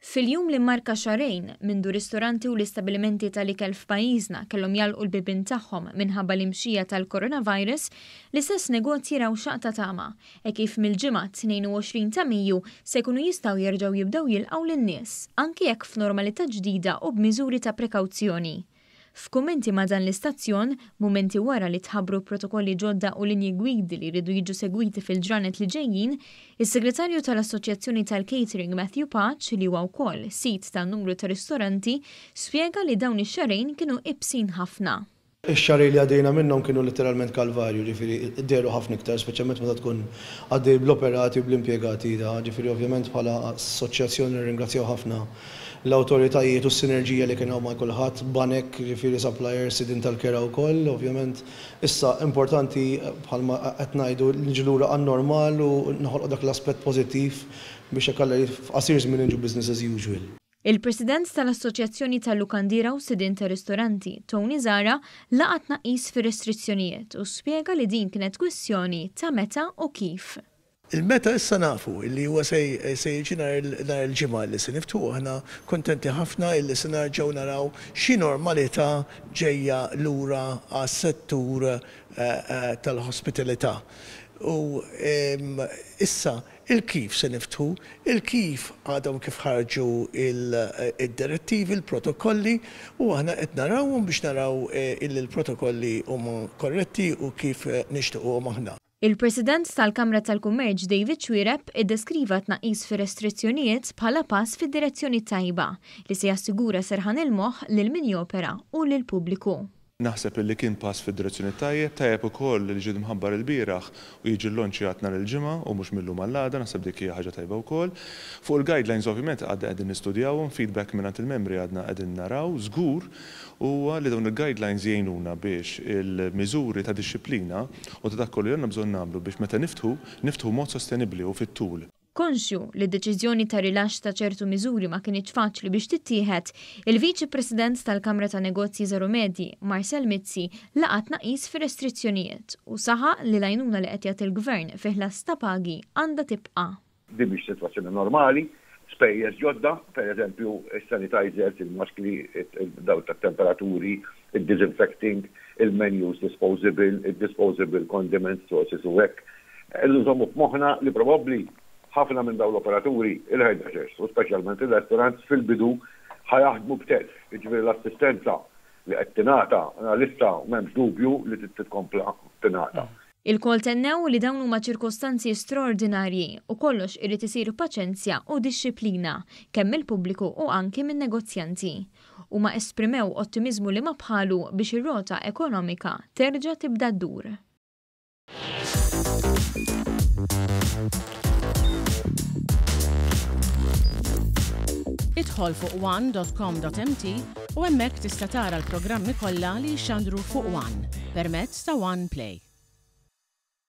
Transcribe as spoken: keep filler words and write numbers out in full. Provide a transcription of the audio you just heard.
Fil-jum li marka xahrejn mindu ristoranti u l-istabilimenti tal-ikel f'pajjiżna kellhom jagħlqu l-bibien tagħhom minħabba l-imxija tal-coronavirus, l-istess negozji raw xaqq ta' tama e kif mill-Ġimgħa tnejn u għoxrin ta' Mejju se jkunu jistgħu jerġgħu jibdew jilqgħu lin-nies, anki jekk f'normalità ġdida u b'miżuri ta' prekawzjoni. F'kummenti ma' dan l-istazzjon, mumenti wara li tħabbru protokolli ġodda u linji gwidi li jridu jiġu segwiti fil-ġranet li ġejjin, is-segretarju tal-Assoċjazzjoni tal-Catering Matthew Pace, li huwa wkoll sid ta' numru ta' ristoranti, spjega li dawn ix-xahrejn kienu ibsin ħafna. Ix-xahrejn li għaddejna minnhom kienu letteralment kalvarju, ġifieri dehru ħafna iktar, speċjalment meta tkun għaddej bl-operati u bl-impjegati da, ġifieri ovvjament bħala assoċjazzjoni nirringrazzjaw ħafna l-awtoritajiet u s-sinerġija li kien hawn ma' kulħadd, banek, ġifieri suppliers, sidin tal-kera wkoll, ovvjament issa importanti, bħalma qed ngħidu, niġu lura għan-normal u noħolqu dak l-aspett pożittiv biex hekk f'qasir żmien niġu business as usual. Il-President tal-Assoċjazzjoni tal-Lukandiera u Sidin ta' Ristoranti, Tony Zara, laqa' tnaqqis fir-restrizzjonijiet u spjega li din kienet kwistjoni ta' meta u kif. Il-meta issa nafu li huwa se jiġi nhar il-Ġimgħa li se niftħu. Aħna kontenti ħafna illi se nerġgħu naraw xi normalità ġejja lura għas-settur eh, eh, tal-ospitalità. U issa il-kif se niftħu, il-kif għadhom kif ħarġu il-direttivi, il-protokolli, u aħna qed narawhom biex naraw eh, illi l-protokolli huma korretti u kif nixtiequhom aħna. Il-President tal-Kamra tal-Kummerċ David Xuereb iddeskriva tnaqqis fir-restrizzjonijiet bħala pass fid-direzzjoni tajba li se jassigura serħan il-moħħ lil min jopera u lil pubbliku. Naħseb li kien pass fid-direzzjoni tajjeb, tajjeb ukoll li ġie mħabbar il-bieraħ u jiġi llonċjat nhar il-Ġimgħa u mhux mil-lum għall-għada, naħseb dik hija ħaġa tajba wkoll. Fuq il-guidelines ovvjament għadna qegħdin nistudjawhom, feedback mingħand il-membri għadna qegħdin naraw, żgur huwa li dawn il-guidelines jgħinuna biex il-miżuri ta' dixxiplina u ta' dak kollu li għandna bżonn nagħmlu biex meta niftħu, niftħu mod sostenibbli u fit-tul. Konxju li d-deċiżjoni ta' rilax ta' ċertu miżuri ma kinitx faċli biex tittieħed, il-Viċi President tal-Kamra ta' Negozji Żgħar u Medji, Marcel Mizzi, laqa' tnaqqis fir-restrizzjonijiet u saħaq li l-għajnuna li qed jagħti l-gvern fi ħlas ta' pagi għandha tibqa'. Din mhix sitwazzjoni normali, spejjeż ġodda, per eżempju, il-sanitizers, il-maskli, daw ta' temperaturi, il-disinfecting, il-menus disposable, il-disposable condiments, sauces u hekk. Nżommu f'moħħna li probabbli ħafna minn dawn l-operaturi, il-hairdressers u speċjalment il-restaurants, fil-bidu ħa jaħdmu b'telf. Jiġifieri l-assistenza li qed tingħata għalissa m'hemmx dubju li titkompla tingħata. Ilkoll tennew li dawn huma ċirkostanzi straordinarji u kollox irid isir paċenzja u dixxiplina kemm il-pubbliku u anki minn negozjanti. Huma esprimew ottimizmu li ma bħalu biex ir-rota ekonomika terġa' tibda ddur. Idħol fuq one dot com dot M T u hemmhekk tista' tara l-programmi kollha li jxandru fuq One permezz ta' One Play.